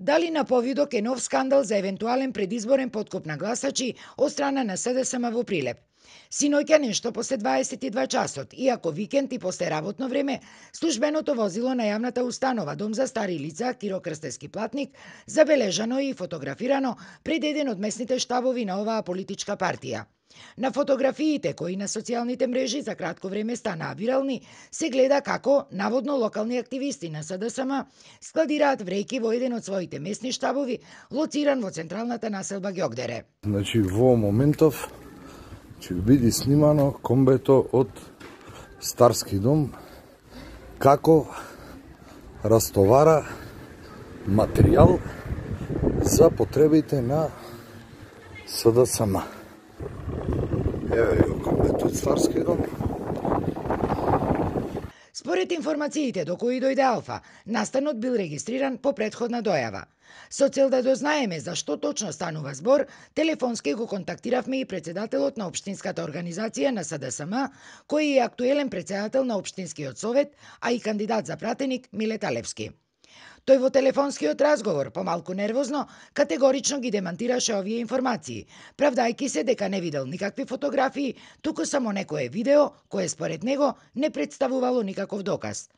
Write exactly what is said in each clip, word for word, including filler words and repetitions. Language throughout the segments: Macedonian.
Дали на повидок е нов скандал за евентуален предизборен подкуп на гласачи од страна на СДСМ во Прилеп. Синоќа нешто после дваесет и два часот, иако викенд и после работно време, службеното возило на јавната установа Дом за стари лица Киро Крстевски Платник забележано и фотографирано пред еден од местните штабови на оваа политичка партија. На фотографиите кои на социјалните мрежи за кратко време станаа вирални, се гледа како наводно локални активисти на СДСМ складираат врејки во еден од своите местни штабови, лоциран во централната населба Ѓогдере. Значи, во моментов ќе биде снимано комбето од Старски дом како растовара материјал за потребите на СДСМ. Еве го комбето од Старски дом. Според информациите до кои дојде Алфа, настанот бил регистриран по претходна дојава. Со цел да дознаеме за што точно станува збор, телефонски го контактиравме и председателот на општинската организација на СДСМ, кој е актуелен председател на општинскиот совет, а и кандидат за пратеник Милет Алевски. Тој во телефонскиот разговор, помалку нервозно, категорично ги демантираше овие информации, правдајки се дека не видел никакви фотографии, туку само некое видео, кое според него не представувало никаков доказ.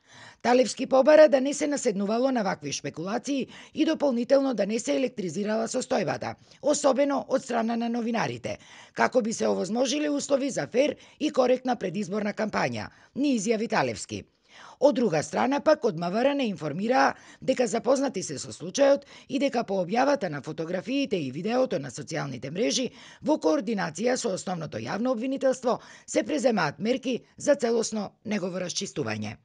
Талевски побара да не се наседнувало на вакви шпекулации и дополнително да не се електризирала состојбата, особено од страна на новинарите, како би се овозможили услови за фер и коректна предизборна кампања, ни изјави Талевски. Од друга страна пак од МВР не информираа дека запознати се со случајот и дека по објавата на фотографиите и видеото на социјалните мрежи во координација со основното јавно обвинителство се преземаат мерки за целосно негово расчистување.